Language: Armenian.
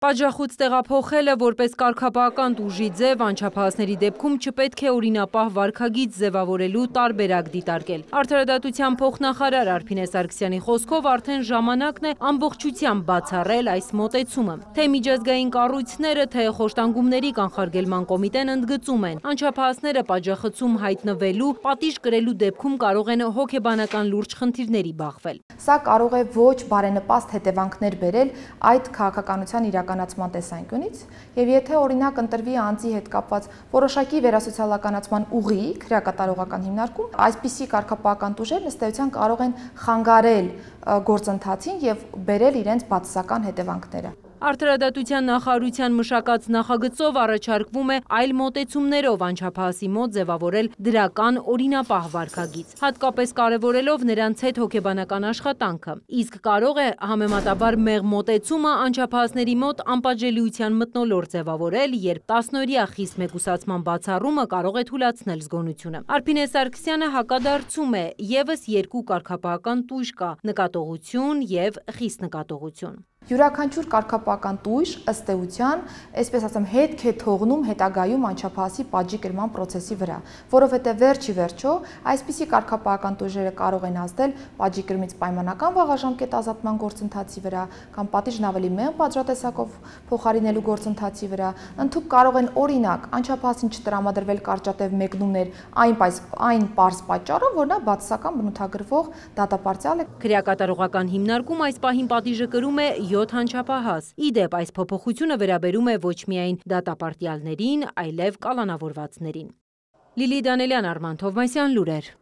Պատժախոց տեղափոխելը որպես կարգապահական տուժի ձև անչափահասների դեպքում չպետք է օրինապահ վարքագիծ ձևավորելու տարբերակ դիտարկել։ Արդարադատության փոխնախարար Արփինե Սարգսյանի խոսքով արդեն ժամանակն է ամբողջությամբ բացառել այս մոտեցումը։ Թե միջազգային կառույցները, թե խոշտանգումների կանխարգելման կոմիտեն ընդգծում են, անչափահասները պատժախցում հայտնվելու, պատիժ կրելու դեպքում կարող են հոգեբանական լուրջ խնդիրների բախվել։ Սա կարող է ոչ բարենպաստ հետևանքներ բերել այդ քաղաքականության իրականացման տեսանկյունից, եւ եթե օրինակ ընտրվի անձի հետ կապված որոշակի վերասոցիալականացման ուղիղ քրեակատարողական հիմնարկում, այսպիսի կարգապահական տուժեր ըստ էության կարող են խանգարել գործընթացին եւ բերել իրենց բացասական հետևանքները։ Արդարադատության նախարարության մշակած նախագծով առաջարկվում է այլ մոտեցումներով անչափահասի մոտ ձևավորել դրական օրինապահ վարքագիծ, հատկապես կարևորելով նրանց հետ հոգեբանական աշխատանքը, իսկ կարող է համեմատաբար մեղմ մոտեցումը անչափահասների մոտ անպատժելիության մթնոլորտ ձևավորել, երբ 10-օրյա խիստ մեկուսացման բացառումը կարող է թուլացնել զգոնությունը։ Արփինե Սարգսյանը հակադարձում է, ևս երկու կարգապահական տույժ կա՝ նկատողություն եւ խիստ նկատողություն։ Յուրաքանչյուր կարգապահական տույժ ըստ էության, այսպես ասեմ, հետք է թողնում հետագայում անչափահասի պատժի կրման process-ի վրա, որովհետև վերջի վերջո այսպիսի կարգապահական տույժերը կարող են ազդել պատժի կրմից պայմանական վաղաժամկետ ազատման գործընթացի վրա կամ պատիժն ավելի մեղմ պատժատեսակով փոխարինելու գործընթացի վրա, ընդհանուր կարող են օրինակ անչափահասին չտրամադրվել կարճատև մեկնումներ այն պարզ պատճառով, որ նա բացասական բնութագրվող դատապարտյալ է։ Քրեակատարողական հիմնարկում այս պահին պատիժը կրում է 7 անչափահաս։ Ի դեպ, այս փոփոխությունը վերաբերում է ոչ միայն դատապարտյալներին, այլև կալանավորվածներին։ Լիլի Դանելյան, Արման Թովմասյան, լուրեր։